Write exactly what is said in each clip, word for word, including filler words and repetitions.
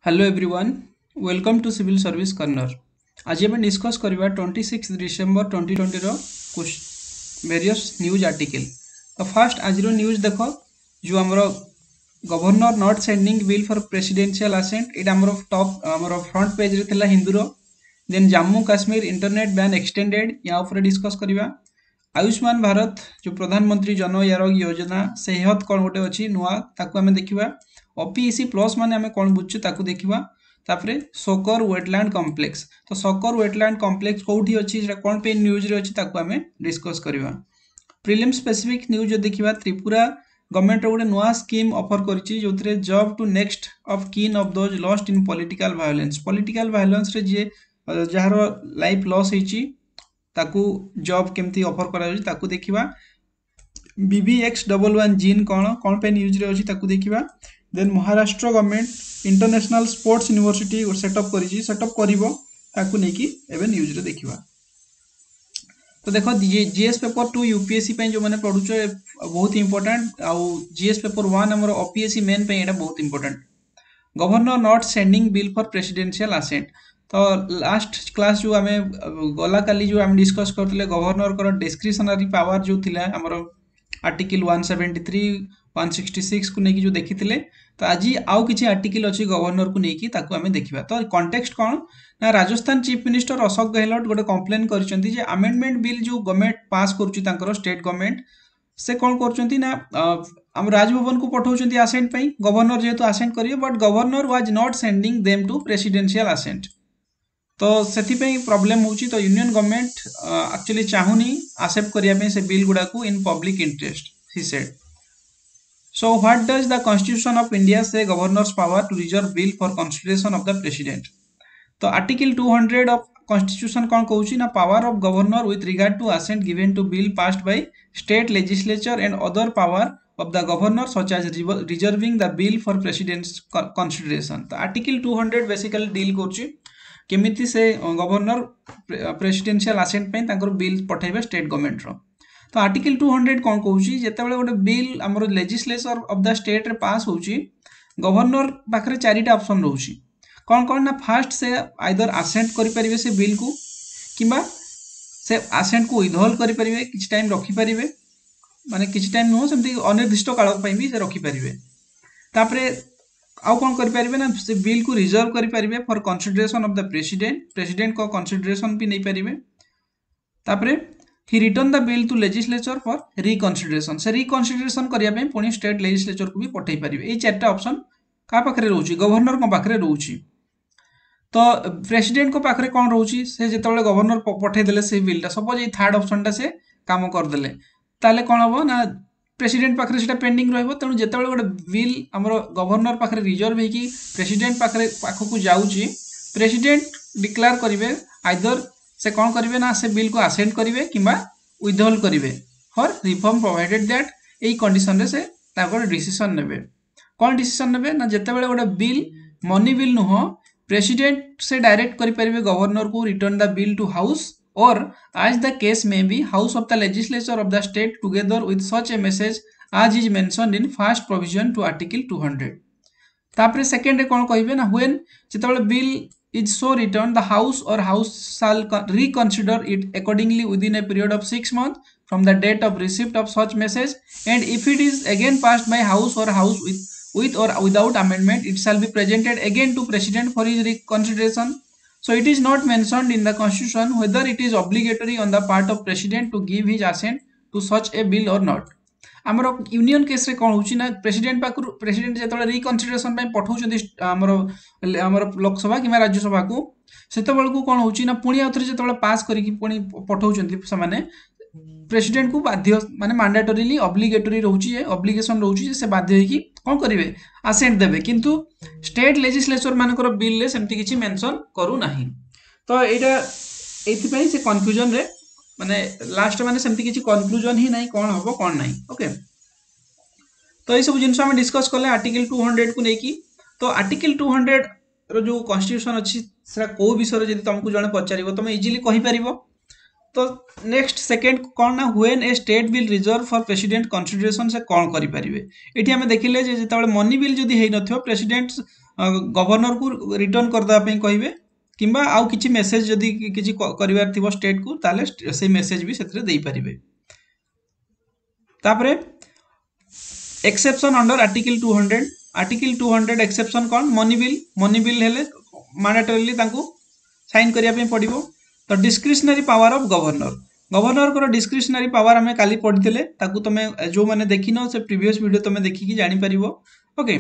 Hello everyone welcome to Civil Service Corner ଆଜି ଆମେ discuss କରିବା ଟ୍ୱେଣ୍ଟି ସିକ୍ସ ଡିସେମ୍ବର ଟ୍ୱେଣ୍ଟି ଟ୍ୱେଣ୍ଟିର ଭେରିୟସ୍ ନ୍ୟୁଜ୍ ଆର୍ଟିକଲ୍ ତ ଫାର୍ଷ୍ଟ ଆଜିର ନ୍ୟୁଜ୍ ଦେଖ ଯେଉଁ ଆମର Governor not sending bill for presidential assent ଏଇଟା ଆମର ଟପ୍ ଆମର ଫ୍ରଣ୍ଟ ପେଜ୍ରେ ଥିଲା ହିନ୍ଦୁର then Jammu Kashmir internet ban extended ୟା ଉପରେ ଡିସ୍କସ୍ କରିବା ଆୟୁଷ୍ମାନ ଭାରତ ଯେଉଁ ପ୍ରଧାନମନ୍ତ୍ରୀ ଜନ ଆରୋଗ୍ୟ ଯୋଜନା ସେହତ କ'ଣ ଗୋଟେ ଅଛି ନୂଆ ତାକୁ ଆମେ ଦେଖିବା ଓପିଇସି ପ୍ଲସ୍ ମାନେ ଆମେ କ'ଣ ବୁଝୁଛୁ ତାକୁ ଦେଖିବା ତାପରେ ସକର ୱେଟଲ୍ୟାଣ୍ଡ କମ୍ପ୍ଲେକ୍ସ ତ ସକର ୱେଟଲ୍ୟାଣ୍ଡ କମ୍ପ୍ଲେକ୍ସ କେଉଁଠି ଅଛି ସେଟା କ'ଣ ପାଇଁ ନ୍ୟୁଜ୍ରେ ଅଛି ତାକୁ ଆମେ ଡିସ୍କସ୍ କରିବା ପ୍ରିଲିମ୍ ସ୍ପେସିଫିକ୍ ନ୍ୟୁଜ୍ ଯଦି ଦେଖିବା ତ୍ରିପୁରା ଗଭର୍ଣ୍ଣମେଣ୍ଟର ଗୋଟେ ନୂଆ ସ୍କିମ୍ ଅଫର୍ କରିଛି ଯେଉଁଥିରେ job to next of kin of those lost in political violence political ଭାୟୋଲେନ୍ସରେ ଯିଏ ଯାହାର ଲାଇଫ୍ ଲସ୍ ହେଇଛି ତାକୁ ଜବ୍ କେମିତି ଅଫର୍ କରାଯାଉଛି ତାକୁ ଦେଖିବା B V X double one gene କ'ଣ କ'ଣ ପାଇଁ ନ୍ୟୁଜ୍ରେ ଅଛି ତାକୁ ଦେଖିବା then Maharashtra government international sports university setup କରିଛି ସେଟଅପ୍ କରିବ ତାକୁ ନେଇକି ଏବେ ନ୍ୟୁଜ୍ରେ ଦେଖିବା ତ ଦେଖ ଜିଏସ୍ ପେପର ଟୁ ୟୁପିଏସସି ପାଇଁ ଯେଉଁମାନେ ପଢ଼ୁଛ ବହୁତ ଇମ୍ପୋର୍ଟାଣ୍ଟ ଆଉ ଜିଏସ୍ ପେପର ୱାନ୍ ଆମର ଓପିଏସସି ମେନ୍ ପାଇଁ ଏଇଟା ବହୁତ important Governor not sending bill for presidential assent ତ ଲାଷ୍ଟ କ୍ଲାସ୍ ଯେଉଁ ଆମେ ଗଲା କାଲି ଯେଉଁ ଆମେ ଡିସ୍କସ୍ କରିଥିଲେ ଗଭର୍ଣ୍ଣରଙ୍କର ଡିସ୍କ୍ରିସନାରୀ ପାୱାର ଯେଉଁ ଥିଲା ଆମର article one seventy three one sixty ସିକ୍ସକୁ ନେଇକି ଯେଉଁ ଦେଖିଥିଲେ ତ ଆଜି ଆଉ କିଛି ଆର୍ଟିକିଲ୍ ଅଛି ଗଭର୍ଣ୍ଣରକୁ ନେଇକି ତାକୁ ଆମେ ଦେଖିବା ତ କଣ୍ଟେକ୍ସଟ କ'ଣ ନା ରାଜସ୍ଥାନ ଚିଫ୍ ମିନିଷ୍ଟର ଅଶୋକ ଗେହଲଟ ଗୋଟେ କମ୍ପ୍ଲେନ୍ କରିଛନ୍ତି ଯେ ଆମେଣ୍ଡମେଣ୍ଟ ବିଲ୍ ଯେଉଁ ଗଭର୍ଣ୍ଣମେଣ୍ଟ ପାସ୍ କରୁଛି ତାଙ୍କର ଷ୍ଟେଟ୍ ଗଭର୍ଣ୍ଣମେଣ୍ଟ ସେ କ'ଣ କରୁଛନ୍ତି ନା ଆମ ରାଜଭବନକୁ ପଠାଉଛନ୍ତି ଆସେଣ୍ଟ ପାଇଁ ଗଭର୍ଣ୍ଣର ଯେହେତୁ ଆସେଣ୍ଟ କରିବେ but Governor was not sending them to presidential assent ତ ସେଥିପାଇଁ ପ୍ରୋବ୍ଲେମ୍ ହେଉଛି ତ ୟୁନିୟନ ଗଭର୍ଣ୍ଣମେଣ୍ଟ ଆକ୍ଚୁଆଲି ଚାହୁଁନି ଆକ୍ସେପ୍ଟ କରିବା ପାଇଁ ସେ ବିଲ୍ ଗୁଡ଼ାକୁ in public interest he said So what does the Constitution of India say governor's power to reserve bill for consideration of the president? ତ article two hundred of Constitution କ'ଣ କହୁଛି ନା power of Governor with regard to assent given to bill passed by state legislature and other power of the governor such as reserving the bill for president's consideration ତ article two hundred basically deal କରୁଛି କେମିତି ସେ governor presidential ଆସେଣ୍ଟ ପାଇଁ ତାଙ୍କର bill ପଠାଇବେ state ଗଭର୍ଣ୍ଣମେଣ୍ଟର ତ article two hundred କ'ଣ କହୁଛି ଯେତେବେଳେ ଗୋଟେ ବିଲ୍ ଆମର ଲେଜିସ୍ଲେଚର ଅଫ୍ the ଷ୍ଟେଟ୍ରେ ପାସ୍ ହେଉଛି ଗଭର୍ଣ୍ଣର ପାଖରେ ଚାରିଟା ଅପସନ୍ ରହୁଛି କ'ଣ କ'ଣ ନା ଫାଷ୍ଟ ସେ ଆଇଦର ଆସେଣ୍ଟ କରିପାରିବେ ସେ ବିଲ୍କୁ କିମ୍ବା ସେ ଆସେଣ୍ଟକୁ ୱିଥହୋଲ୍ଡ କରିପାରିବେ କିଛି ଟାଇମ୍ ରଖିପାରିବେ ମାନେ କିଛି ଟାଇମ୍ ନୁହଁ ସେମିତି ଅନିର୍ଦ୍ଦିଷ୍ଟ କାଳ ପାଇଁ ବି ସେ ରଖିପାରିବେ ତାପରେ ଆଉ କ'ଣ କରିପାରିବେ ନା ସେ ବିଲ୍କୁ ରିଜର୍ଭ କରିପାରିବେ for consideration of the President ପ୍ରେସିଡେଣ୍ଟଙ୍କ consideration ବି ନେଇପାରିବେ ତାପରେ he return the bill to legislature for reconsideration ସେ ରିକନସିଡରେସନ୍ କରିବା ପାଇଁ ପୁଣି ଷ୍ଟେଟ୍ ଲେଜିସ୍ଲେଚରକୁ ବି ପଠାଇ ପାରିବେ ଏଇ ଚାରିଟା ଅପସନ୍ କାହା ପାଖରେ ରହୁଛି ଗଭର୍ଣ୍ଣରଙ୍କ ପାଖରେ ରହୁଛି ତ ପ୍ରେସିଡେଣ୍ଟଙ୍କ ପାଖରେ କ'ଣ ରହୁଛି ସେ ଯେତେବେଳେ ଗଭର୍ଣ୍ଣର ପଠାଇଦେଲେ ସେଇ ବିଲ୍ଟା ସପୋଜ ଏଇ ଥାର୍ଡ ଅପସନ୍ଟା ସେ କାମ କରିଦେଲେ ତାହେଲେ କ'ଣ ହେବ ନା ପ୍ରେସିଡେଣ୍ଟ ପାଖରେ ସେଇଟା ପେଣ୍ଡିଂ ରହିବ ତେଣୁ ଯେତେବେଳେ ଗୋଟେ ବିଲ୍ ଆମର ଗଭର୍ଣ୍ଣର ପାଖରେ ରିଜର୍ଭ ହେଇକି ପ୍ରେସିଡେଣ୍ଟ ପାଖରେ ପାଖକୁ ଯାଉଛି ପ୍ରେସିଡେଣ୍ଟ ଡିକ୍ଲେୟାର କରିବେ ଆଇଦର ସେ କ'ଣ କରିବେ ନା ସେ ବିଲ୍କୁ ଆସେଣ୍ଟ କରିବେ କିମ୍ବା ୱିଥହୋଲ୍ଡ କରିବେ ଫର୍ ରିଫର୍ମ ପ୍ରୋଭାଇଡେଡ୍ that ଏଇ କଣ୍ଡିସନରେ ସେ ତାଙ୍କର ଡିସିସନ୍ ନେବେ କ'ଣ ଡିସିସନ୍ ନେବେ ନା ଯେତେବେଳେ ଗୋଟେ ବିଲ୍ ମନି ବିଲ୍ ନୁହଁ ପ୍ରେସିଡେଣ୍ଟ ସେ ଡାଇରେକ୍ଟ କରିପାରିବେ ଗଭର୍ଣ୍ଣରକୁ return the bill to house or as the case may be house of the legislature of the state together with such a message as is mentioned in first provision to article two hundred ତାପରେ ସେକେଣ୍ଡରେ କ'ଣ କହିବେ ନା when ଯେତେବେଳେ bill is so returned the house or house shall reconsider it accordingly within a period of six months from the date of receipt of such message and if it is again passed by house or house with with or without amendment it shall be presented again to president for his reconsideration so it is not mentioned in the constitution whether it is obligatory on the part of president to give his assent to such a bill or not ଆମର union କେସ୍ରେ କ'ଣ ହେଉଛି ନା president ପାଖରୁ president ଯେତେବେଳେ ରିକନସିଡରେସନ୍ ପାଇଁ ପଠାଉଛନ୍ତି ଆମର ଆମର ଲୋକସଭା କିମ୍ବା ରାଜ୍ୟସଭାକୁ ସେତେବେଳକୁ କ'ଣ ହେଉଛି ନା ପୁଣି ଆଉଥରେ ଯେତେବେଳେ ପାସ୍ କରିକି ପୁଣି ପଠାଉଛନ୍ତି ସେମାନେ ପ୍ରେସିଡେଣ୍ଟକୁ ବାଧ୍ୟ ମାନେ ମାଣ୍ଡାଟୋରିଲି ଅବ୍ଲିଗେଟୋରି ରହୁଛି ଯେ ଅବ୍ଲିଗେସନ୍ ରହୁଛି ଯେ ସେ ବାଧ୍ୟ ହେଇକି କ'ଣ କରିବେ ଆସେଣ୍ଟ ଦେବେ କିନ୍ତୁ ଷ୍ଟେଟ୍ ଲେଜିସ୍ଲେଚର ମାନଙ୍କର ବିଲ୍ରେ ସେମିତି କିଛି ମେନସନ୍ କରୁନାହିଁ ତ ଏଇଟା ଏଇଥିପାଇଁ ସେ କନଫ୍ୟୁଜନରେ ମାନେ ଲାଷ୍ଟ ମାନେ ସେମିତି କିଛି କନକ୍ଲୁଜନ ହିଁ ନାହିଁ କ'ଣ ହବ କ'ଣ ନାହିଁ ଓକେ ତ ଏଇସବୁ ଜିନିଷ ଆମେ ଡିସ୍କସ୍ କଲେ ଆର୍ଟିକଲ ଟୁ ହଣ୍ଡ୍ରେଡକୁ ନେଇକି ତ ଆର୍ଟିକଲ ଟୁ ହଣ୍ଡ୍ରେଡର ଯେଉଁ କନଷ୍ଟିଟ୍ୟୁସନ ଅଛି ସେଟା କେଉଁ ବିଷୟରେ ଯଦି ତମକୁ ଜଣେ ପଚାରିବ ତମେ ଇଜିଲି କହିପାରିବ ତ ନେକ୍ସଟ ସେକେଣ୍ଡ କ'ଣ ନା when a state bill reserve for president consideration ସେ କ'ଣ କରିପାରିବେ ଏଠି ଆମେ ଦେଖିଲେ ଯେ ଯେତେବେଳେ ମନି ବିଲ୍ ଯଦି ହେଇନଥିବ ପ୍ରେସିଡେଣ୍ଟ ଗଭର୍ଣ୍ଣରକୁ ରିଟର୍ନ କରିଦେବା ପାଇଁ କହିବେ କିମ୍ବା ଆଉ କିଛି ମେସେଜ ଯଦି କିଛି କରିବାର ଥିବ ଷ୍ଟେଟକୁ ତାହେଲେ ସେଇ ମେସେଜ ବି ସେଥିରେ ଦେଇପାରିବେ ତାପରେ exception under Article two hundred Article two hundred exception କ'ଣ ମନି ବିଲ୍ ମନି ବିଲ୍ ହେଲେ ମାଣ୍ଡାଟୋରିଲି ତାଙ୍କୁ ସାଇନ୍ କରିବା ପାଇଁ ପଡ଼ିବ ତ ଡିସ୍କ୍ରିସନାରୀ ପାୱାର ଅଫ୍ ଗଭର୍ଣ୍ଣର ଗଭର୍ଣ୍ଣରଙ୍କର ଡିସ୍କ୍ରିସନାରୀ ପାୱାର ଆମେ କାଲି ପଢ଼ିଥିଲେ ତାକୁ ତମେ ଯେଉଁମାନେ ଦେଖିନ ସେ ପ୍ରିଭିୟସ୍ ଭିଡ଼ିଓ ତମେ ଦେଖିକି ଜାଣିପାରିବ ଓକେ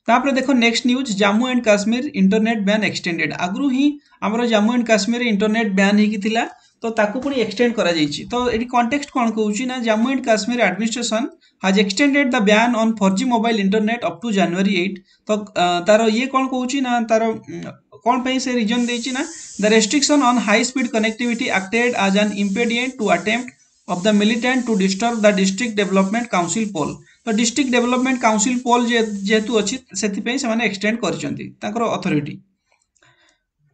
ତାପରେ ଦେଖ next news Jammu and Kashmir internet ban extended ଆଗରୁ ହିଁ ଆମର Jammu and Kashmir internet ban ହେଇକି ଥିଲା ତ ତାକୁ ପୁଣି ଏକ୍ସଟେଣ୍ଡ କରାଯାଇଛି ତ ଏଠି କଣ୍ଟେକ୍ସଟ କ'ଣ କହୁଛି ନା Jammu and Kashmir administration has extended the ban on four G mobile internet up to January eight ତ ତାର ଇଏ କ'ଣ କହୁଛି ନା ତାର କ'ଣ ପାଇଁ ସେ ରିଜନ୍ ଦେଇଛି ନା the restriction on high speed connectivity acted as an impediment to attempt of the militant to disturb the District Development Council poll ତ ଡିଷ୍ଟ୍ରିକ୍ଟ ଡେଭଲପମେଣ୍ଟ କାଉନସିଲ ପୋଲ୍ ଯେହେତୁ ଅଛି ସେଥିପାଇଁ ସେମାନେ ଏକ୍ସଟେଣ୍ଡ କରିଛନ୍ତି ତାଙ୍କର ଅଥରିଟି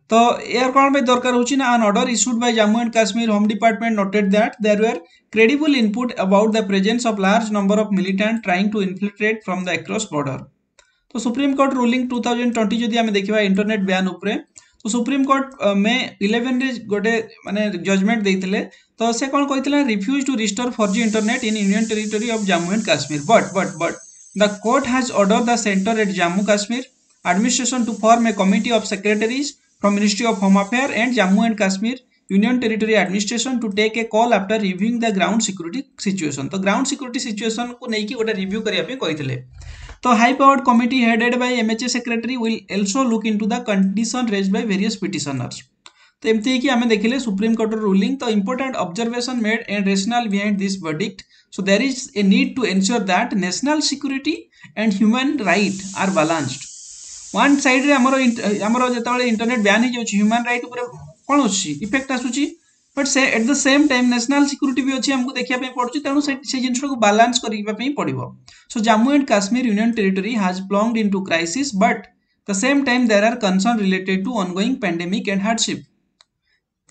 ତ ଏହାର କ'ଣ ପାଇଁ ଦରକାର ହେଉଛି ନା an order issued by Jammu and Kashmir Home Department noted that there were credible input about the presence of large number of militant trying to infiltrate from the across border ତ supreme court ruling two thousand twenty ଯଦି ଆମେ ଦେଖିବା internet ban ଉପରେ ତ supreme court May ଇଲେଭେନରେ ଗୋଟେ ମାନେ judgement ଦେଇଥିଲେ ତ ସେ କ'ଣ କହିଥିଲେ refuse to restore four G internet in Union Territory of Jammu and Kashmir but but but the court has order the Centre at Jammu Kashmir administration to form a committee of secretaries from Ministry of Home Affairs and Jammu and Kashmir Union Territory Administration to take a call after reviewing the ground security situation. ତ ground security situation କୁ ନେଇକି ଗୋଟେ review କରିବା ପାଇଁ କହିଥିଲେ ତ high powered committee headed by MHA secretary will also look into the condition raised by various petitioners. ତ ଏମିତି ହେଇକି ଆମେ ଦେଖିଲେ ସୁପ୍ରିମକୋର୍ଟର ରୁଲିଂ ତ important observation made and rationale behind this verdict so there is a need to ensure that national security and human right are balanced one ସାଇଡ୍ରେ ଆମର ଆମର ଯେତେବେଳେ ଇଣ୍ଟରନେଟ୍ ବ୍ୟାନ୍ ହେଇଯାଉଛି ହ୍ୟୁମାନ୍ ରାଇଟ୍ ଉପରେ କ'ଣ ଅଛି ଇଫେକ୍ଟ ଆସୁଛି ବଟ୍ ସେ at the same time national security ବି ଅଛି ଆମକୁ ଦେଖିବା ପାଇଁ ପଡୁଛି ତେଣୁ ସେ ସେ ଜିନିଷଟାକୁ ବାଲାନ୍ସ କରିବା ପାଇଁ ପଡ଼ିବ so Jammu and Kashmir Union Territory has plunged into crisis but the same time there are concern related to ongoing pandemic and hardship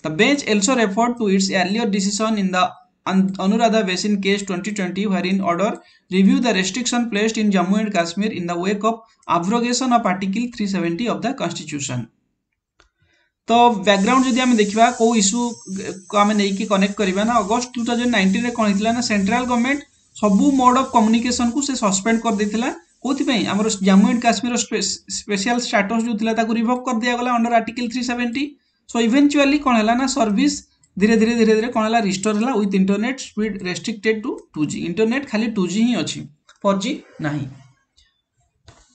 The bench also referred to its earlier decision in the Anuradha Bhasin case twenty twenty wherein order review the restriction placed in Jammu and Kashmir in the wake of abrogation of Article three seventy of the Constitution. ତ background ଯଦି ଆମେ ଦେଖିବା କେଉଁ issue ଆମେ ନେଇକି connect କରିବା ନା August two thousand ନାଇଣ୍ଟିନରେ କ'ଣ ହେଇଥିଲା ନା ସେଣ୍ଟ୍ରାଲ ଗଭର୍ଣ୍ଣମେଣ୍ଟ ସବୁ ମୋଡ୍ ଅଫ୍ କମ୍ୟୁନିକେସନକୁ ସେ ସସ୍ପେଣ୍ଡ କରିଦେଇଥିଲା କୋଉଥିପାଇଁ ଆମର Jammu and Kashmir special status ଯେଉଁ ଥିଲା ତାକୁ ରିଭୋକ୍ କରିଦିଆଗଲା under Article three seventy so eventually କ'ଣ ହେଲା ନା ସର୍ଭିସ ଧୀରେ ଧୀରେ ଧୀରେ ଧୀରେ କ'ଣ ହେଲା ରିଷ୍ଟୋର ହେଲା with internet speed restricted to two G internet ଖାଲି ଟୁ ଜି ହିଁ ଅଛି ଫୋର୍ ଜି ନାହିଁ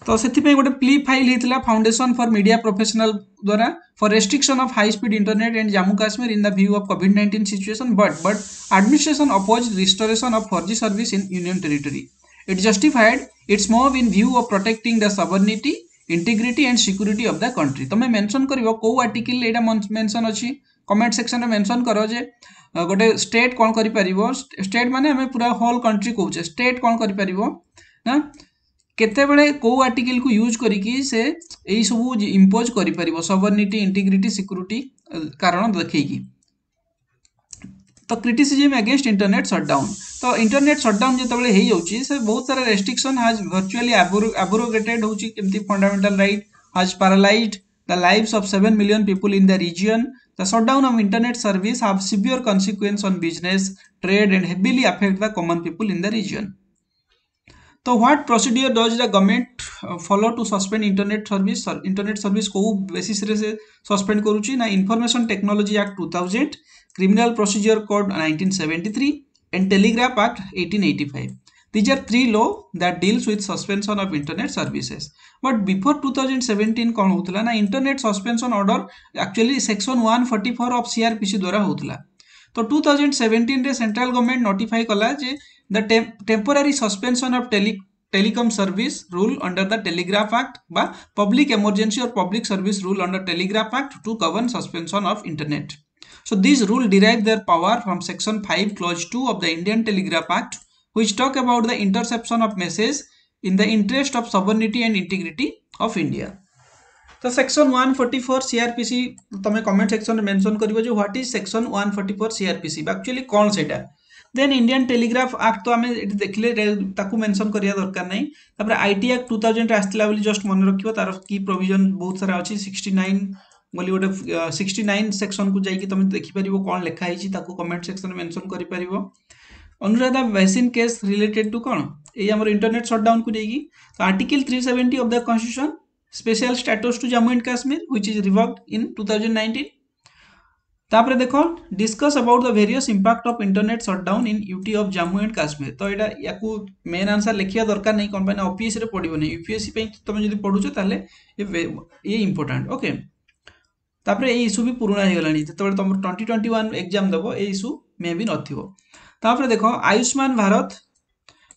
ତ ସେଥିପାଇଁ ଗୋଟେ ପ୍ଲି ଫାଇଲ୍ ହେଇଥିଲା ଫାଉଣ୍ଡେସନ ଫର୍ ମିଡ଼ିଆ ପ୍ରଫେସନାଲ ଦ୍ୱାରା for restriction of high speed internet in Jammu Kashmir in the view of COVID nineteen situation but but administration oppose restoration of four G service in Union Territory it justified its move in view of protecting the sovereignty integrity and security of the country ତମେ mention କରିବ କେଉଁ article ଏଇଟା mention ଅଛି comment ସେକ୍ସନରେ mention କର ଯେ ଗୋଟେ state କ'ଣ କରିପାରିବ ଷ୍ଟେଟ୍ ମାନେ ଆମେ ପୁରା ହୋଲ୍ କଣ୍ଟ୍ରି କହୁଛେ ଷ୍ଟେଟ୍ କ'ଣ କରିପାରିବ ନା କେତେବେଳେ କେଉଁ ଆର୍ଟିକିଲକୁ ୟୁଜ୍ କରିକି ସେ ଏଇସବୁ ଇମ୍ପୋଜ୍ କରିପାରିବ ସଭରନିଟି ଇଣ୍ଟିଗ୍ରିଟି ସିକ୍ୟୁରିଟି କାରଣ ଦେଖେଇକି ତ କ୍ରିଟିସିଜିମ୍ ଏଗେନଷ୍ଟ ଇଣ୍ଟରନେଟ୍ ସଟ୍ଡାଉନ୍ ତ ଇଣ୍ଟରନେଟ୍ ସଟ୍ଡାଉନ୍ ଯେତେବେଳେ ହେଇଯାଉଛି ସେ ବହୁତ ସାରା ରେଷ୍ଟ୍ରିକ୍ସନ୍ ହାଜ୍ ଭର୍ଚୁଆଲି ଆବ୍ରୋଗେଟେଡ୍ ହେଉଛି କେମିତି fundamental right has paralyzed the lives of seven million people in the region. The shutdown of internet service have severe consequence on business, trade and heavily affect the common people in the region. ତ what procedure does the government follow to suspend internet service internet service କେଉଁ ବେସିସ୍ରେ ସେ suspend କରୁଛି ନା Information Technology Act two thousand Criminal Procedure Code nineteen seventy three and Telegraph Act eighteen eighty five These are three law that deals with suspension of internet services. But before two thousand seventeen କ'ଣ ହେଉଥିଲା ନା internet suspension order actually section one forty four of CrPC ଦ୍ୱାରା ହେଉଥିଲା ତ two thousand ସେଭେଣ୍ଟିନ୍ରେ central government notify କଲା ଯେ the temporary suspension of tele telecom service rule under the Telegraph Act ବା public emergency or public service rule under Telegraph Act to govern suspension of internet. So these rule derive their power from section five clause two of the Indian Telegraph Act which talk about the interception of message in the interest of sovereignty and integrity of India. ତ section one forty four CrPC ତମେ comment ସେକ୍ସନରେ mention କରିବ ଯେ what is section one forty four CrPC actually କ'ଣ ସେଇଟା ଦେନ୍ Indian Telegraph act ତ ଆମେ ଏଠି ଦେଖିଲେ, ତାକୁ ମେନସନ୍ କରିବା ଦରକାର ନାହିଁ। ତାପରେ IT act two ଥାଉଜେଣ୍ଡରେ ଆସିଥିଲା ବୋଲି ଜଷ୍ଟ ମନେ ରଖିବ। ତାର କି ପ୍ରୋଭିଜନ ବହୁତ ସାରା ଅଛି, ସିକ୍ସଟି ନାଇନ୍ ବୋଲି ଗୋଟେ, ସିକ୍ସଟି ନାଇନ୍ ସେକ୍ସନକୁ ଯାଇକି ତମେ ଦେଖିପାରିବ କ'ଣ ଲେଖା ହେଇଛି, ତାକୁ କମେଣ୍ଟ ସେକ୍ସନରେ ମେନସନ୍ କରିପାରିବ। ଅନୁରାଧା ଭେସିନ୍ କେସ୍ ରିଲେଟେଡ୍ ଟୁ କ'ଣ? ଏଇ ଆମର ଇଣ୍ଟରନେଟ୍ ସଟ୍ଡାଉନକୁ ନେଇକି। ତ Article three seventy of the Constitution, special status to Jammu and Kashmir, which is revoked in two thousand nineteen. ତାପରେ ଦେଖ, discuss about the various impact of internet shutdown in U T of Jammu and Kashmir. ତ ଏଇଟା ୟାକୁ main answer ଲେଖିବା ଦରକାର ନାହିଁ। କ'ଣ ପାଇଁ ନା ଓପିଏସ୍ସିରେ ପଡ଼ିବନି। ୟୁପିଏସ୍ସି ପାଇଁ ତମେ ଯଦି ପଢ଼ୁଛ ତାହେଲେ ଇଏ ଇମ୍ପୋର୍ଟାଣ୍ଟ, ଓକେ। ତାପରେ ଏଇ ଇସ୍ୟୁ ବି ପୁରୁଣା ହେଇଗଲାଣି। ଯେତେବେଳେ ତମର ଟ୍ୱେଣ୍ଟି ଟ୍ୱେଣ୍ଟି ୱାନ୍ ଏକ୍ଜାମ୍ ଦେବ, ଏଇ ଇସ୍ୟୁ ମେ ବି ନଥିବ। ତାପରେ ଦେଖ, ଆୟୁଷ୍ମାନ ଭାରତ,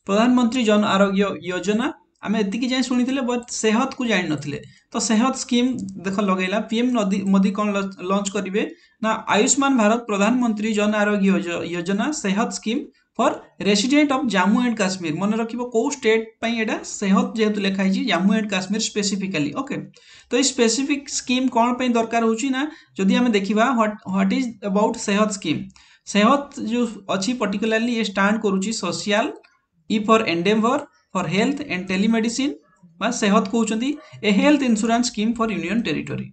ପ୍ରଧାନମନ୍ତ୍ରୀ ଜନ ଆରୋଗ୍ୟ ଯୋଜନା ଆମେ ଏତିକି ଯାଏଁ ଶୁଣିଥିଲେ, ବଟ୍ ସେହତକୁ ଜାଣିନଥିଲେ। ତ ସେହତ ସ୍କିମ୍ ଦେଖ ଲଗେଇଲା ପିଏମ୍ ନଦୀ ମୋଦି। କ'ଣ ଲଞ୍ଚ କରିବେ ନା ଆୟୁଷ୍ମାନ ଭାରତ ପ୍ରଧାନମନ୍ତ୍ରୀ Jan Arogya Yojana Sehat scheme for resident of Jammu and Kashmir. ମନେ ରଖିବ କେଉଁ ଷ୍ଟେଟ୍ ପାଇଁ ଏଇଟା? ସେହତ ଯେହେତୁ ଲେଖା ହେଇଛି, Jammu and Kashmir specifically, okay. ତ ଏଇ ସ୍ପେସିଫିକ୍ ସ୍କିମ୍ କ'ଣ ପାଇଁ ଦରକାର ହେଉଛି ନା ଯଦି ଆମେ ଦେଖିବା what what is about Sehat scheme? Sehat ଯେଉଁ ଅଛି ପର୍ଟିକୁଲାରଲି ଇଏ ଷ୍ଟାଣ୍ଡ କରୁଛି social, E for endeavour, for health and telemedicine ବା ସେହତ କହୁଛନ୍ତି, a health insurance scheme for union territory.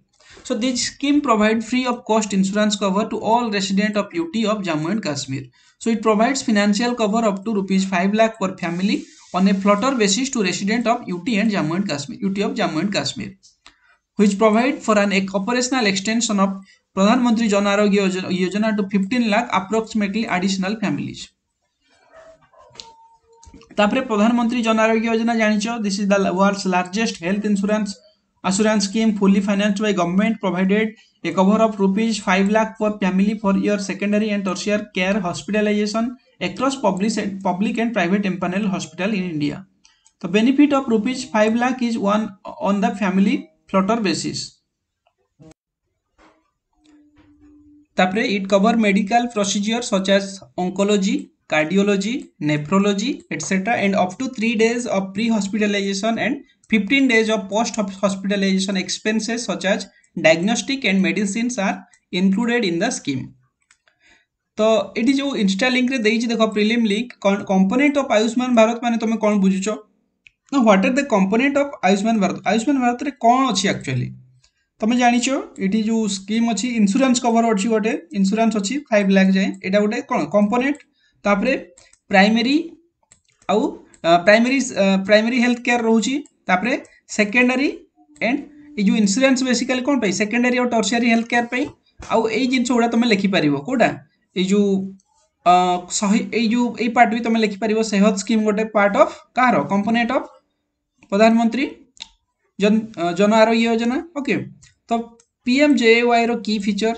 So this scheme provide free of cost insurance cover to all resident of U T of Jammu and Kashmir. So it provides financial cover up to rupees five lakh per family on a floater basis to resident of U T and Jammu and Kashmir, U T of Jammu and Kashmir, which provide for an operational extension of Pradhan Mantri Jan Arogya Yojana to fifteen lakh approximately additional families. ତାପରେ ପ୍ରଧାନମନ୍ତ୍ରୀ ଜନ ଆରୋଗ୍ୟ ଯୋଜନା ଜାଣିଛ, this is the world's largest health insurance assurance scheme, fully financed by government, provided a cover of rupees five lakh per family for your secondary and tertiary care hospitalization across public, public and private empanel hospital in India. The benefit of rupees five lakh is one on the family floater basis. ତାପରେ it cover medical procedure such as oncology, cardiology, nephrology, et cetera and up to three days of pre-hospitalization and fifteen days of post-hospitalization expenses such as diagnostic and medicines are included in the scheme. ତ ଏଠି ଯେଉଁ insta ଲିଙ୍କରେ ଦେଇଛି ଦେଖ, prelim link, component of Ayushman Bharat ମାନେ ତମେ କ'ଣ ବୁଝୁଛ ନା what are the component of Ayushman Bharat? Ayushman ଭାରତରେ କ'ଣ ଅଛି ଆକ୍ଚୁଆଲି ତମେ ଜାଣିଛ? ଏଠି ଯେଉଁ ସ୍କିମ୍ ଅଛି, ଇନ୍ସୁରାନ୍ସ କଭର ଅଛି, ଗୋଟେ ଇନ୍ସୁରାନ୍ସ ଅଛି ଫାଇଭ୍ ଲାખ ଯାଏଁ, ଏଇଟା ଗୋଟେ କ'ଣ କମ୍ପୋନେଣ୍ଟ। ତାପରେ ପ୍ରାଇମେରୀ ଆଉ ପ୍ରାଇମେରୀ ପ୍ରାଇମେରୀ ହେଲ୍ଥ କେୟାର ରହୁଛି। ତାପରେ ସେକେଣ୍ଡାରୀ ଆଣ୍ଡ ଏଇ ଯେଉଁ ଇନ୍ସୁରାନ୍ସ ବେସିକାଲି କ'ଣ ପାଇଁ? ସେକେଣ୍ଡାରୀ ଆଉ ଟର୍ସିଆରୀ ହେଲ୍ଥ କେୟାର ପାଇଁ। ଆଉ ଏଇ ଜିନିଷ ଗୁଡ଼ା ତମେ ଲେଖିପାରିବ। କେଉଁଟା? ଏଇ ଯେଉଁ ଶହେ ଏଇ ଯେଉଁ ଏଇ ପାର୍ଟ ବି ତମେ ଲେଖିପାରିବ। ସେହତ ସ୍କିମ୍ ଗୋଟେ ପାର୍ଟ ଅଫ୍ କାହାର? କମ୍ପୋନେଣ୍ଟ ଅଫ୍ ପ୍ରଧାନମନ୍ତ୍ରୀ ଜନ ଜନ ଆରୋଗ୍ୟ ଯୋଜନା, ଓକେ। ତ ପି ଏମ୍ ଜେ ୱାଇର କି ଫିଚର,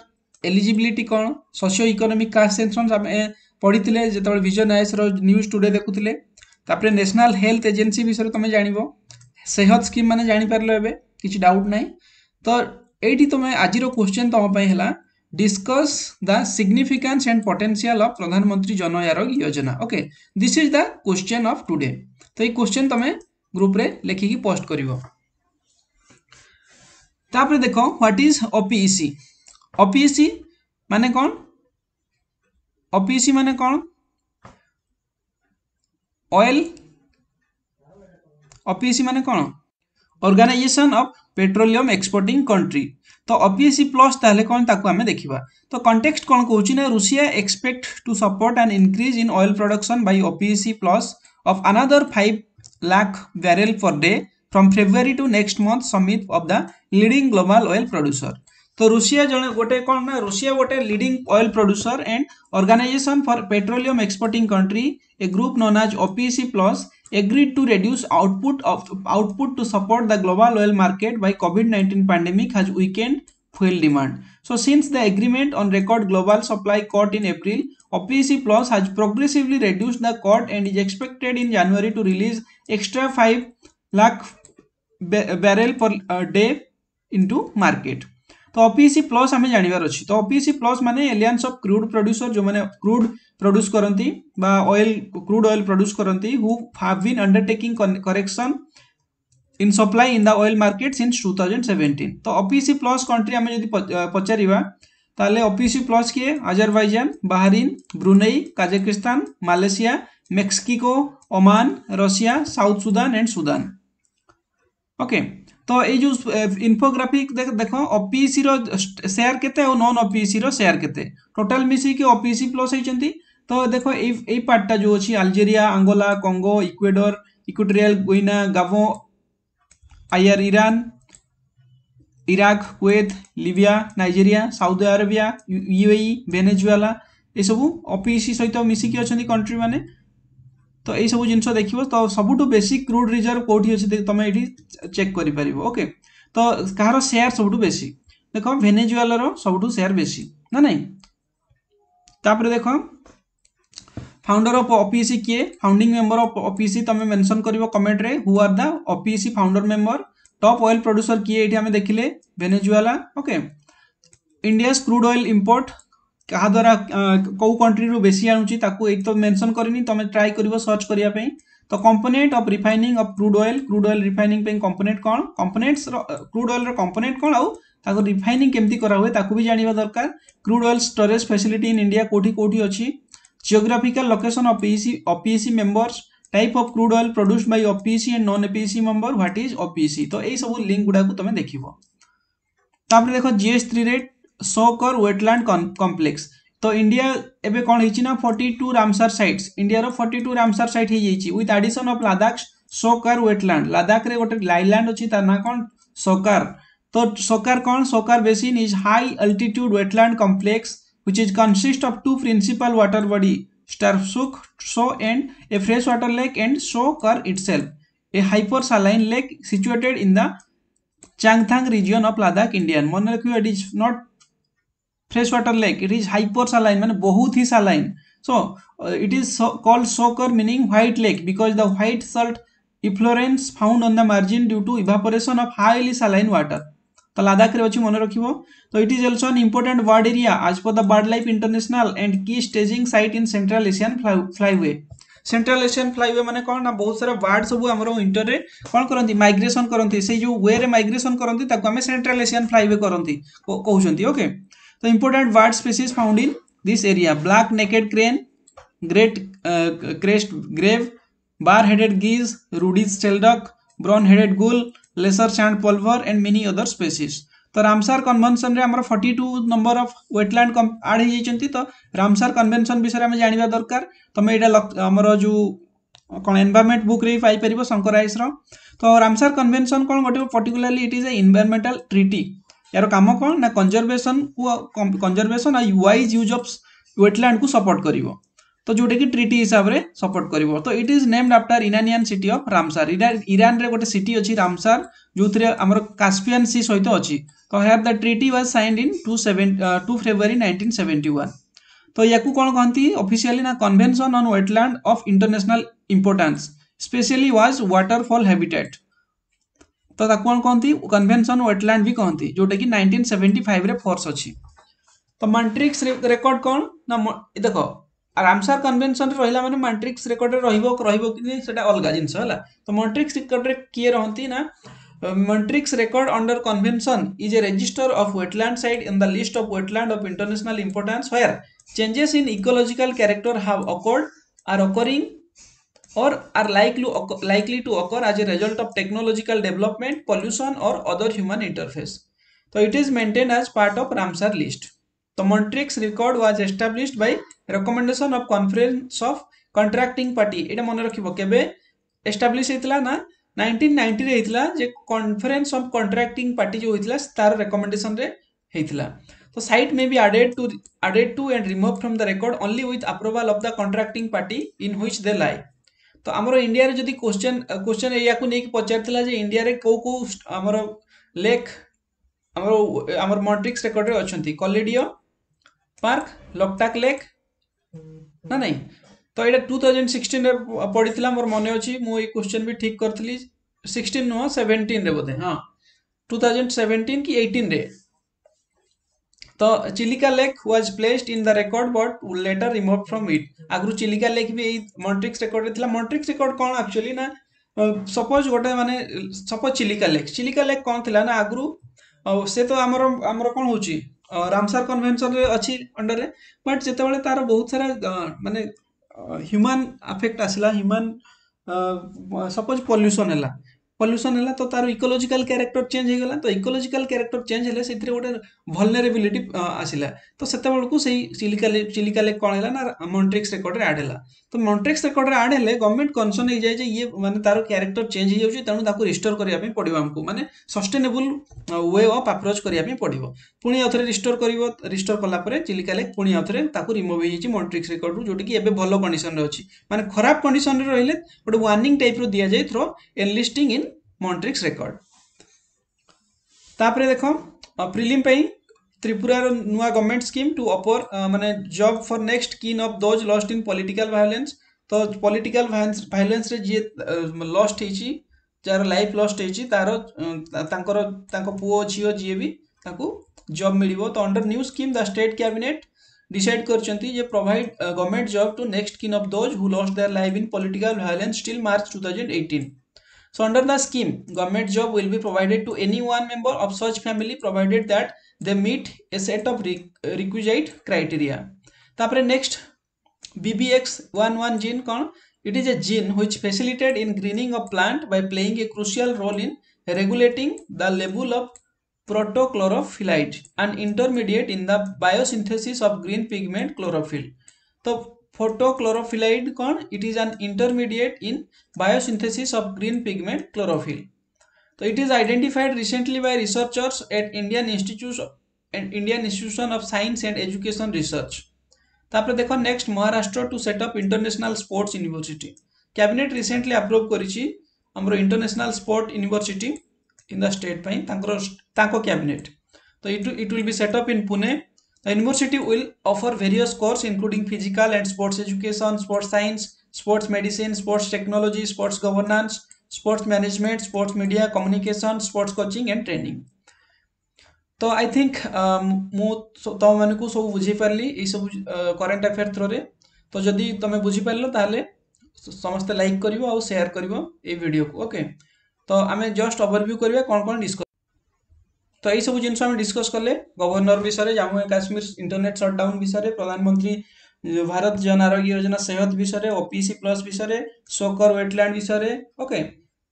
ଏଲିଜିବିଲିଟି କ'ଣ, ସୋସିଓ ଇକୋନୋମିକ୍ କାଷ୍ଟ ସେନ୍ସସ୍ ଆମେ ପଢ଼ିଥିଲେ ଯେତେବେଳେ ଭିଜନ ଆଇଏସ୍ର ନ୍ୟୁଜ୍ ଟୁଡେ ଦେଖୁଥିଲେ। ତାପରେ ନ୍ୟାସନାଲ୍ ହେଲ୍ଥ ଏଜେନ୍ସି ବିଷୟରେ ତମେ ଜାଣିବ। ସେହତ ସ୍କିମ୍ ମାନେ ଜାଣିପାରିଲ ଏବେ, କିଛି ଡାଉଟ୍ ନାହିଁ। ତ ଏଇଠି ତମେ ଆଜିର କ୍ୱେଶ୍ଚନ୍ ତମ ପାଇଁ ହେଲା, discuss the significance and potential of Pradhan Mantri Jan Arogya Yojana. Okay, this is the question of today. ତ ଏଇ କ୍ୱେଶ୍ଚନ୍ ତମେ ଗ୍ରୁପରେ ଲେଖିକି ପୋଷ୍ଟ କରିବ। ତାପରେ ଦେଖ, what is O P E C? O P E C ମାନେ କ'ଣ? ଓପିଇସି ମାନେ କ'ଣ? ଅଏଲ ଓପିଇସି ମାନେ କ'ଣ? Organisation of Petroleum Exporting Country. ତ ଓପିଇସି ପ୍ଲସ୍ ତାହେଲେ କ'ଣ, ତାକୁ ଆମେ ଦେଖିବା। ତ କଣ୍ଟେକ୍ସଟ କ'ଣ କହୁଛି ନା Russia expect to support an increase in oil production by O P E C plus of another five lakh barrel per day from February to next month summit of the leading global oil producer. ତ Russia ଜଣେ ଗୋଟେ କ'ଣ ନା Russia ଗୋଟେ leading oil producer and Organisation for Petroleum Exporting Country, a group known as O P E C plus, agreed to reduce output of output to support the global oil market by COVID nineteen pandemic has weakened fuel demand. So since the agreement on record global supply cut in April, O P E C Plus has progressively reduced the cut and is expected in January to release extra five lakh barrel per uh, day into market. ତ OPEC plus ଆମେ ଜାଣିବାର ଅଛି। ତ OPEC plus ମାନେ alliance of crude producer, ଯେଉଁମାନେ crude produce କରନ୍ତି ବା oil crude oil produce କରନ୍ତି, who have been undertaking correction in supply in the oil market since two thousand seventeen. ତ ଓପିଇସି ପ୍ଲସ୍ କଣ୍ଟ୍ରି ଆମେ ଯଦି ପଚାରିବା, ତାହେଲେ ଓପିଇସି ପ୍ଲସ୍ କିଏ Azerbaijan Bahrain Brunei Kazakhstan Malaysia Mexico Oman Russia South Sudan and Sudan okay ତ ଏଇ ଯେଉଁ ଇନଫୋଗ୍ରାଫିକ୍ ଦେଖ ଓପିଇସି ର ସେୟାର କେତେ ଆଉ ନନ୍ ଓପିଇସି ର ସେୟାର କେତେ ଟୋଟାଲ ମିଶିକି ଓପିଇସି ପ୍ଲସ୍ ହେଇଛନ୍ତି ତ ଦେଖ ଏଇ ଏଇ ପାର୍ଟଟା ଯେଉଁ ଅଛି Algeria Angola Congo Ecuador Equatorial Guinea Gabon IR Iran Iraq Kuwait Libya Nigeria Saudi Arabia UAE Venezuela ଏସବୁ ଓପିଇସି ସହିତ ମିଶିକି ଅଛନ୍ତି କଣ୍ଟ୍ରି ମାନେ ତ ଏଇସବୁ ଜିନିଷ ଦେଖିବ ତ ସବୁଠୁ ବେଶୀ କ୍ରୁଡ୍ ରିଜର୍ଭ କେଉଁଠି ଅଛି ତମେ ଏଇଠି ଚେକ୍ କରିପାରିବ ଓକେ ତ କାହାର ସେୟାର ସବୁଠୁ ବେଶୀ ଦେଖ ଭେନେଜୁଏଲାର ସବୁଠୁ ସେୟାର ବେଶୀ ନା ନାଇଁ ତାପରେ ଦେଖ ଫାଉଣ୍ଡର ଅଫ୍ ଓପିଇସି କିଏ ଫାଉଣ୍ଡିଂ ମେମ୍ବର ଅଫ୍ ଓପିଇସି ତମେ ମେନସନ୍ କରିବ କମେଣ୍ଟରେ who are the OPEC founder member top oil producer କିଏ ଏଇଠି ଆମେ ଦେଖିଲେ Venezuela okay India's crude oil import କାହା ଦ୍ୱାରା କେଉଁ କଣ୍ଟ୍ରିରୁ ବେଶୀ ଆଣୁଛି ତାକୁ ଏଇଠି ତ ମେନସନ୍ କରିନି ତମେ ଟ୍ରାଏ କରିବ ସର୍ଚ୍ଚ କରିବା ପାଇଁ ତ component of refining of crude oil crude oil refining ପାଇଁ କମ୍ପୋନେଣ୍ଟ କ'ଣ କମ୍ପୋନେଣ୍ଟସର କ୍ରୁଡ୍ ଅଏଲ୍ର କମ୍ପୋନେଣ୍ଟ କ'ଣ ଆଉ ତାକୁ ରିଫାଇନିଂ କେମିତି କରାହୁଏ ତାକୁ ବି ଜାଣିବା ଦରକାର crude oil storage facility in India କେଉଁଠି କେଉଁଠି ଅଛି geographical location of OPEC OPEC members type of crude oil produced by OPEC and non OPEC member what is OPEC ତ ଏଇ ସବୁ ଲିଙ୍କ ଗୁଡ଼ାକୁ ତମେ ଦେଖିବ ତାପରେ ଦେଖ ଜିଏସ୍ ଥ୍ରୀରେ Tso Kar wetland complex ତ ଇଣ୍ଡିଆ ଏବେ କ'ଣ ହେଇଛି ନା ଫର୍ଟି ଟୁ ରାମସାର ସାଇଟ୍ସ ଇଣ୍ଡିଆର ଫର୍ଟି ଟୁ ରାମସାର ସାଇଟ୍ ହେଇଯାଇଛି with addition of Ladakh Tso Kar wetland ଲଦାଖରେ ଗୋଟେ ଆଇଲ୍ୟାଣ୍ଡ ଅଛି ତା ନାଁ କ'ଣ ସୋ କର ତ ସୋ କର କ'ଣ Tso Kar basin is high altitude wetland complex which is consist of two principal water body Sarsukh Tso and a freshwater lake and Tso Kar itself a hypersaline lake situated in the Changthang region of Ladakh India ମନେ ରଖିବ it is not freshwater lake it is hypersaline ମାନେ ବହୁତ ହି saline so uh, it is so called Tso Kar meaning white lake because the white salt efflorescence found on the margin due to evaporation of highly saline water ତ ଲଦାଖରେ ଅଛି ମନେ ରଖିବ ତ it is also an important bird area as per the Bird Life International and key staging site in Central Asian flyway Central Asian flyway ମାନେ କ'ଣ ନା ବହୁତ ସାରା ବାର୍ଡ ସବୁ ଆମର ୱିଣ୍ଟରରେ କ'ଣ କରନ୍ତି ମାଇଗ୍ରେସନ୍ କରନ୍ତି ସେଇ ଯେଉଁ ୱେରେ ମାଇଗ୍ରେସନ୍ କରନ୍ତି ତାକୁ ଆମେ ସେଣ୍ଟ୍ରାଲ ଏସିଆନ୍ ଫ୍ଲାଇୱେ କରନ୍ତି କହୁଛନ୍ତି ଓକେ ତ important bird species found in this area black necked crane great crested grebe bar headed geese Rudi's shelduck brown headed gull lesser sand plover and many other species ତ Ramsar କନଭେନସନରେ ଆମର forty two number of wetland add ହେଇଯାଇଛନ୍ତି ତ Ramsar convention ବିଷୟରେ ଆମେ ଜାଣିବା ଦରକାର ତମେ ଏଇଟା ଆମର ଯେଉଁ କ'ଣ ଏନଭାରମେଣ୍ଟ ବୁକ୍ରେ ବି ପାଇପାରିବ ଶଙ୍କର ଆଇଏଏସ୍ର ତ ରାମସାର କନଭେନସନ କ'ଣ ଗୋଟେ particularly it is a environmental treaty ଏହାର କାମ କ'ଣ ନା କନଜରଭେସନକୁ କନଜରଭେସନ ଆଉ ୱାଇଜ୍ ୟୁଜ୍ ଅଫ୍ ୱେଟଲ୍ୟାଣ୍ଡକୁ ସପୋର୍ଟ କରିବ ତ ଯେଉଁଟାକି ଟ୍ରିଟି ହିସାବରେ ସପୋର୍ଟ କରିବ ତ it is named after Iranian city of Ramsar ଇରାନରେ ଗୋଟେ ସିଟି ଅଛି ରାମସାର ଯେଉଁଥିରେ ଆମର କାସ୍ପିଆନ୍ ସି ସହିତ ଅଛି ତ here the treaty was signed in two seven two February nineteen seventy one ତ ୟାକୁ କ'ଣ କହନ୍ତି ଅଫିସିଆଲି ନା convention on wetland of international importance specially was waterfowl habitat ତ ତାକୁ କ'ଣ କହନ୍ତି କନଭେନସନ୍ ୱେଟଲ୍ୟାଣ୍ଡ ବି କହନ୍ତି ଯେଉଁଟାକି ନାଇନଟିନ୍ ସେଭେଣ୍ଟି ଫାଇଭରେ ଫୋର୍ସ ଅଛି ତ ମଣ୍ଟ୍ରିକ୍ସ ରେକର୍ଡ କ'ଣ ନା ଦେଖ ରାମସାର କନଭେନସନରେ ରହିଲା ମାନେ ମଣ୍ଟ୍ରିକ୍ସ ରେକର୍ଡରେ ରହିବ ରହିବ କି ସେଟା ଅଲଗା ଜିନିଷ ହେଲା ତ ମଣ୍ଟ୍ରିକ୍ସ ରେକର୍ଡରେ କିଏ ରହନ୍ତି ନା Montreux record under convention is a register of wetland site in the list of wetland of international importance where changes in ecological character have occurred are occurring or are likely, likely to occur as a result of technological development, pollution or other human interface. So it is maintained as part of Ramsar list. The Montreux record was established by recommendation of conference of contracting party. ଏଇଟା ମନେ ରଖିବ କେବେ establish ହେଇଥିଲା ନା nineteen ନାଇଣ୍ଟିରେ ହେଇଥିଲା ଯେ conference of contracting party ଯେଉଁ ହେଇଥିଲା ତାର ରେକମେଣ୍ଡେସନରେ ହେଇଥିଲା ତ site May B added two added two and remove from the record only with approval of the contracting party in which De ଲାଇ ତ ଆମର ଇଣ୍ଡିଆରେ ଯଦି କ୍ୱେଶ୍ଚନ୍ କ୍ୱେଶ୍ଚନ୍ ଏଇଆକୁ ନେଇକି ପଚାରିଥିଲା ଯେ ଇଣ୍ଡିଆରେ କେଉଁ କେଉଁ ଆମର ଲେକ୍ ଆମର ଆମର ମଣ୍ଟ୍ରିକ୍ସ ରେକର୍ଡରେ ଅଛନ୍ତି କେୱାଡ଼ିଆ ପାର୍କ ଲୋକଟାକ ଲେକ୍ ନା ନାଇଁ ତ ଏଇଟା ଟୁ ଥାଉଜେଣ୍ଡ ସିକ୍ସଟିନରେ ପଡ଼ିଥିଲା ମୋର ମନେ ଅଛି ମୁଁ ଏଇ କ୍ୱେଶ୍ଚନ୍ ବି ଠିକ୍ କରିଥିଲି ସିକ୍ସଟିନ୍ ନୁହଁ ସେଭେଣ୍ଟିନରେ ବୋଧେ ହଁ ଟୁ ଥାଉଜେଣ୍ଡ ସେଭେଣ୍ଟିନ୍ କି ଏଇଟିନରେ ତ Chilika lake was placed in the record but letter remove from ଇଟ୍ ଆଗରୁ ଚିଲିକା ଲେକ୍ ବି ଏଇ ମଣ୍ଟ୍ରିକ୍ସ ରେକର୍ଡରେ ଥିଲା ମଣ୍ଟ୍ରିକ୍ସ ରେକର୍ଡ କ'ଣ ଆକ୍ଚୁଆଲି ନା ସପୋଜ ଗୋଟେ ମାନେ suppose Chilika lake Chilika lake କ'ଣ ଥିଲା ନା ଆଗରୁ ଆଉ ସେ ତ ଆମର ଆମର କ'ଣ ହେଉଛି ରାମସାର କନଭେନସନରେ ଅଛି ଅଣ୍ଡରରେ ବଟ୍ ଯେତେବେଳେ ତାର ବହୁତ ସାରା ମାନେ ହ୍ୟୁମାନ୍ ଆଫେକ୍ଟ ଆସିଲା ହ୍ୟୁମାନ୍ ସପୋଜ ପଲ୍ୟୁସନ୍ ହେଲା ପଲ୍ୟୁସନ୍ ହେଲା ତ ତାର ଇକୋଲୋଜିକାଲ କ୍ୟାରେକ୍ଟର ଚେଞ୍ଜ ହେଇଗଲା ତ ଇକୋଲୋଜିକାଲ କ୍ୟାରେକ୍ଟର ଚେଞ୍ଜ ହେଲେ ସେଥିରେ ଗୋଟେ ଭଲନେରେବିଲିଟି ଆସିଲା ତ ସେତେବେଳକୁ ସେଇ ଚିଲିକା ଚିଲିକା ଲେକ୍ କ'ଣ ହେଲା ନା ମଣ୍ଟ୍ରିକ୍ସ ରେକର୍ଡରେ ଆଡ୍ ହେଲା ତ ମଣ୍ଟ୍ରିକ୍ସ ରେକର୍ଡରେ ଆଡ୍ ହେଲେ ଗଭର୍ଣ୍ଣମେଣ୍ଟ କନସର୍ନ ହେଇଯାଏ ଯେ ଇଏ ମାନେ ତାର କ୍ୟାରେକ୍ଟର ଚେଞ୍ଜ ହେଇଯାଉଛି ତେଣୁ ତାକୁ ରିଷ୍ଟୋର କରିବା ପାଇଁ ପଡ଼ିବ ଆମକୁ ମାନେ ସଷ୍ଟେନେବୁଲ we of approach କରିବା ପାଇଁ ପଡ଼ିବ ପୁଣି ଆଉଥରେ ରିଷ୍ଟୋର କରିବ ରିଷ୍ଟୋର କଲା ପରେ ଚିଲିକା ଲେକ୍ ପୁଣି ଆଉଥରେ ତାକୁ ରିମୁଭ୍ ହେଇଯାଇଛି ମଣ୍ଟ୍ରିକ୍ସ ରେକର୍ଡରୁ ଯୋଉଟାକି ଏବେ ଭଲ କଣ୍ଡିସନରେ ଅଛି ମାନେ ଖରାପ କଣ୍ଡିସନରେ ରହିଲେ ଗୋଟେ ୱାର୍ଣ୍ଣିଂ ଟାଇପ୍ର ଦିଆଯାଏ through enlisting in Montreux record ତାପରେ ଦେଖ ପ୍ରିଲିମ୍ ପାଇଁ ତ୍ରିପୁରାର ନୂଆ ଗଭର୍ଣ୍ଣମେଣ୍ଟ ସ୍କିମ୍ ଟୁ ଅଫର ମାନେ job for next kin of those lost in political violence ତ ପଲିଟିକାଲ ଭାଇଲେନ୍ସରେ ଯିଏ ଲଷ୍ଟ ହେଇଛି ଯାହାର ଲାଇଫ୍ ଲଷ୍ଟ ହେଇଛି ତାର ତାଙ୍କର ତାଙ୍କ ପୁଅ ଝିଅ ଯିଏ ବି ତାଙ୍କୁ ଜବ୍ ମିଳିବ ତ under new scheme the state cabinet decide କରିଛନ୍ତି ଯେ provide government job to next kin of those who lost their life in political violence till March two thousand eighteen So under the scheme, government job will be provided to any one member of such family provided that they meet a set of requisite criteria. ତାପରେ next B B X one one gene କ'ଣ It is a gene which facilitated in greening of plant by playing a crucial role in regulating the level of protochlorophyllide, an intermediate in the biosynthesis of green pigment chlorophyll. ତ protochlorophyllide କ'ଣ It is an intermediate in biosynthesis of green pigment chlorophyll. So it is identified recently by researchers at Indian Institute and Indian Institution of Science and Education Research. ତାପରେ ଦେଖ next Maharashtra to set up international sports university cabinet recently approve କରିଛି ଆମର international sport university in the state ପାଇଁ ତାଙ୍କର ତାଙ୍କ cabinet ତ it it will be set up in Pune The university will offer various courses including physical and sports education, sports science, sports medicine, sports technology, sports governance, sports management, sports media, communication, sports coaching and training. ତ I think ମୁଁ ତୁମମାନଙ୍କୁ ସବୁ ବୁଝେଇ ପାରିଲି ଏଇସବୁ current affair ଥ୍ରୋରେ ତ ଯଦି ତୁମେ ବୁଝିପାରିଲ ତାହେଲେ ସମସ୍ତେ ଲାଇକ୍ କରିବ ଆଉ ସେୟାର କରିବ ଏଇ ଭିଡ଼ିଓକୁ ଓକେ ତ ଆମେ ଜଷ୍ଟ ଓଭରଭ୍ୟୁ କରିବା କ'ଣ କ'ଣ ଡିସ୍କସ୍ ତ ଏଇସବୁ ଜିନିଷ ଆମେ ଡିସ୍କସ୍ କଲେ ଗଭର୍ଣ୍ଣର ବିଷୟରେ Jammu and Kashmir internet shutdown ବିଷୟରେ ପ୍ରଧାନମନ୍ତ୍ରୀ ଭାରତ ଜନ ଆରୋଗ୍ୟ ଯୋଜନା ସେହତ ବିଷୟରେ ଓପିସି ପ୍ଲସ୍ ବିଷୟରେ ସୋକର ୱେଟଲ୍ୟାଣ୍ଡ ବିଷୟରେ ଓକେ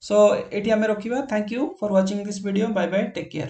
ସୋ ଏଠି ଆମେ ରଖିବା Thank you for watching this video bye bye take care